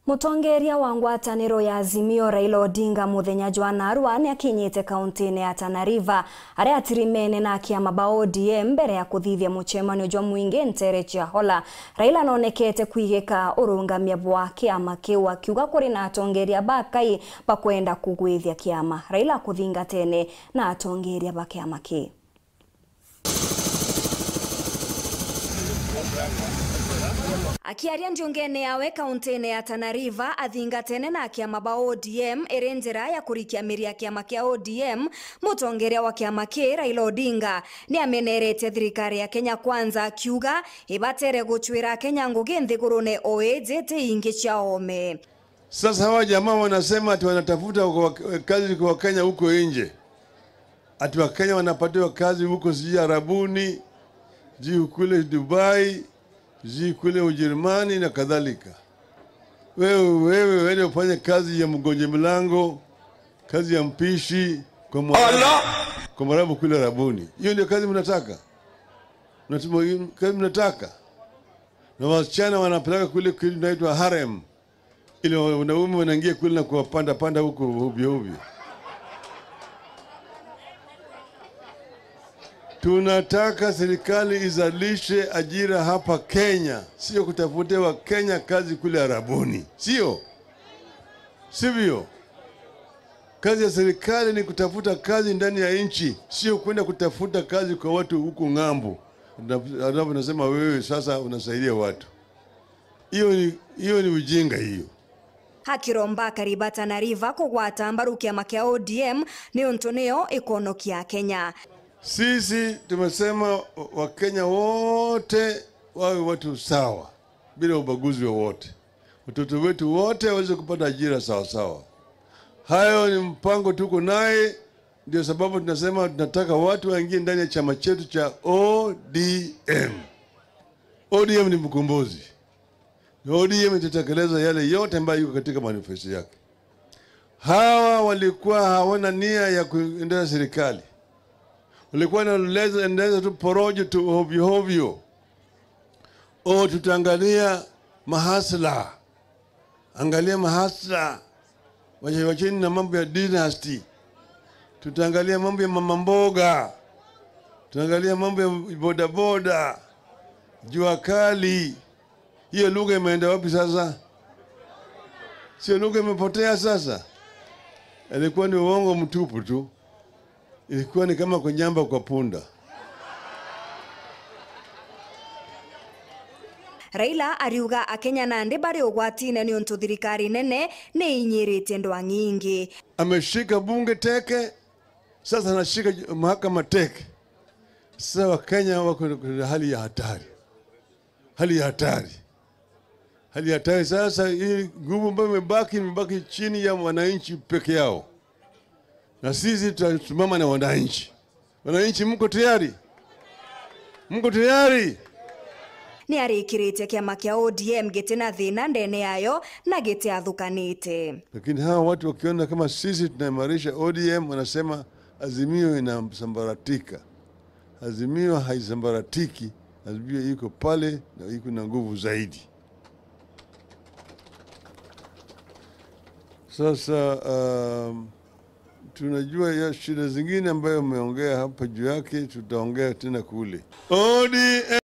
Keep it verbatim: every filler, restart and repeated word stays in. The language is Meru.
Mutongeria wa ngwataniro ya Azimio, Raila Odinga, muthenya jwa narua ni akinyite kauntine ya Tana River, aria atirimene na akiama ba O D M mbere ya kuthithia mucemanio jwa mwingi ntere cia Hola. Raila nonekete kwigika urungamia bwa kiama kiu, akiuga kuri na atongeria bakai bakwenda kugwithia kiama. Raila kuthingatene na atongeria ba kiama kii. Akiaria ndiungene yawe kauntine ya Tana River, athingatene na akiama ba O D M iri njira ya kurikia miri ya kiama kia O D M, mutongeria wa kiama kii, Raila Odinga, ni amenerete thirikari ya Kenya Kwanza, akiuga ibatere gucwira Kenya ngugi nthigurune o iji ti ingi cia oome. Sasa hawa jamaa wanasema ati wanatafuta wa-, kazi kwa Kenya huko nje. Ati Wakenya wanapatiwa kazi huko sijui Arabuni, sijui kule Dubai, sijui kule Ujerumani na kadhalika. Wewe, wewe, wende ufanye kazi ya mgonja mlango, kazi ya mpishi kwa Mwarabu, kwa Mwarabu kule Arabuni. Hiyo ndio kazi mnataka? Mnatuma-, kazi mnataka? Na wasichana wanapeleka kule kitu inaitwa harem. Ile wanaume wanaingia kule na kuwapanda panda huko ovyo ovyo. Tunataka serikali izalishe ajira hapa Kenya, sio kutafutia Wakenya kazi kule Arabuni, sio? Sivyo? Kazi ya serikali ni kutafuta kazi ndani ya nchi, sio kwenda kutafuta kazi kwa watu huko ng'ambo. Na, alafu nasema wewe sasa unasaidia watu. Hiyo ni, hiyo ni ujinga hiyo. Akiromba akari ba Tana River kugwata mbaru kiama kia O D M niuntu niyo ikonokia Kenya. Sisi tumesema Wakenya wote wawe watu sawa bila ubaguzi wowote. Watoto wetu wote waweze kupata ajira sawa sawa. Hayo ni mpango tuko naye, ndio sababu tunasema tunataka watu waingie ndani ya chama chetu cha O D M. O D M ni mkombozi. Na O D M itatekeleza yale yote ambayo iko katika manifesto yake. Hawa walikuwa hawana nia ya kuendeleza serikali. Walikuwa wanaendeleza tu porojo tu ovyo ovyo. O, tutaangalia mahasla. Angalia mahasla. Wache-, wacheni na mambo ya dynasty. Tutaangalia mambo ya mama mboga. Tutaangalia mambo ya bodaboda. Jua kali. Hiyo lugha imeenda wapi sasa? Sio lugha imepotea sasa? Ilikuwa ni uongo mtupu tu. Ilikuwa ni kama kunyamba kwa punda. Raila ariuga Akenya nandi bari ugwatine niuntu thirikari nene ni inyiritie ndwang'i ingi. Ameshika bunge teke, sasa anashika mahakama teke. Sasa Wakenya wako katika hali ya hatari. Hali ya hatari. Hali ya hatari. Sasa hii nguvu ambayo imebaki, imebaki chini ya wananchi peke yao. Na sisi tutasimama na wananchi. Wananchi, mko tayari? Mko tayari? Ni arikiritie kiama kia O D M giti na thina ndene yayo na giti athukanite. Lakini hawa watu wakiona kama sisi tunaimarisha O D M, wanasema Azimio inasambaratika. Azimio haisambaratiki. Azimio iko pale na iko na nguvu zaidi. Sasa, um, tunajua ya shida zingine ambayo umeongea hapa juu yake, tutaongea tena kule. O D M.